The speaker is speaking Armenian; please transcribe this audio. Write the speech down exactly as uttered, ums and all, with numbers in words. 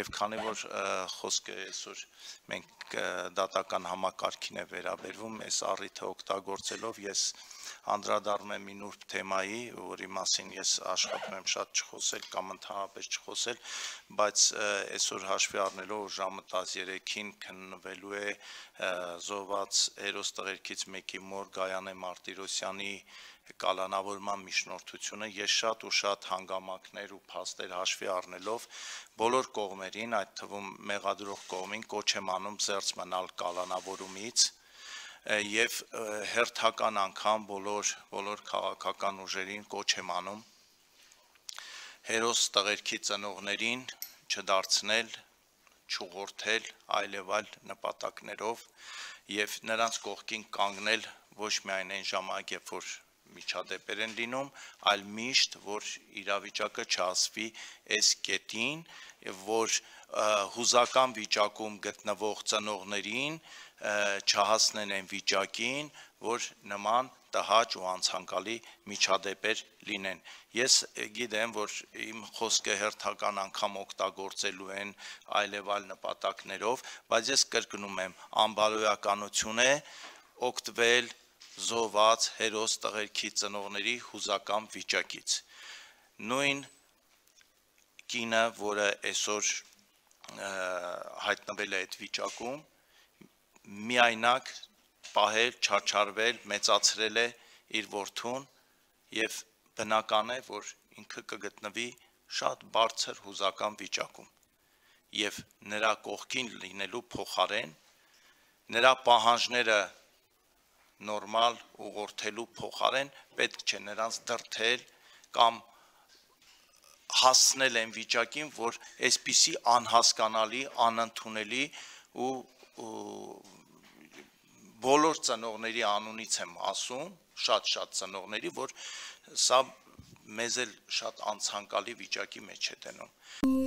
Եվ քանի որ խոսքը այսօր մենք դատական համակարգին է վերաբերվում, այս առիթը օգտագործելով ես անդրադառնում եմ մի նուրբ թեմայի, որի մասին ես աշխատում եմ շատ չխոսել կամ ընդհանրապես չխոսել, բայց այսօր հաշվի առնելով ժամը տասներեքին քննվելու է զոհված հերոս տղերքից մեկի մոր Գայանե Մարտիրոսյանի կալանավորման միջնորդությունը, ես շատ ու շատ հանգամանքներ ու փաստեր հաշվի առնելով բոլոր կողմերին, այդ թվում մեղադրող կողմին կոչ եմ անում զերծ մնալ կալանավորումից եւ հերթական անգամ բոլոր բոլոր քաղաքական ուժերին կոչ եմ անում հերոս տղերքի ծնողներին չդարձնել, չուղղորդել այլ եւ այլ նպատակներով եւ նրանց կողքին կանգնել ոչ միայն այն ժամանակ, երբ որ միջադեպեր են լինում, այլ միշտ, որ իրավիճակը չհասվի այս կետին, որ հուզական վիճակում գտնվող ծնողներին չհասնեն այն վիճակին, որ նման տհաճ ու անցանկալի միջադեպեր լինեն։ Ես գիտեմ, որ իմ խոսքը հերթական անգամ օգտագործելու են այլ եւ այլ նպատակներով, բայց ես կրկնում եմ, անբարոյականություն է օգտվել զոհված հերոս տղերքի ծնողների հուզական վիճակից։ Նույն կինը, որը այսօր հայտնվել է այդ վիճակում, միայնակ պահել, չարչարվել, մեծացրել է իր որդուն եւ բնական է, որ ինքը կգտնվի շատ բարձր հուզական վիճակում եւ նրա կողքին լինելու փոխարեն նրա պահանջները նորմալ ուղղորդելու փոխարեն պետք չէ նրանց դրդել կամ հասցնել այն վիճակին, որ այսպիսի անհասկանալի, անընդունելի ու բոլոր ծնողների անունից եմ ասում, շատ-շատ ծնողների, որ սա մեզ էլ շատ անցանկալի վիճակի մեջ է դնում։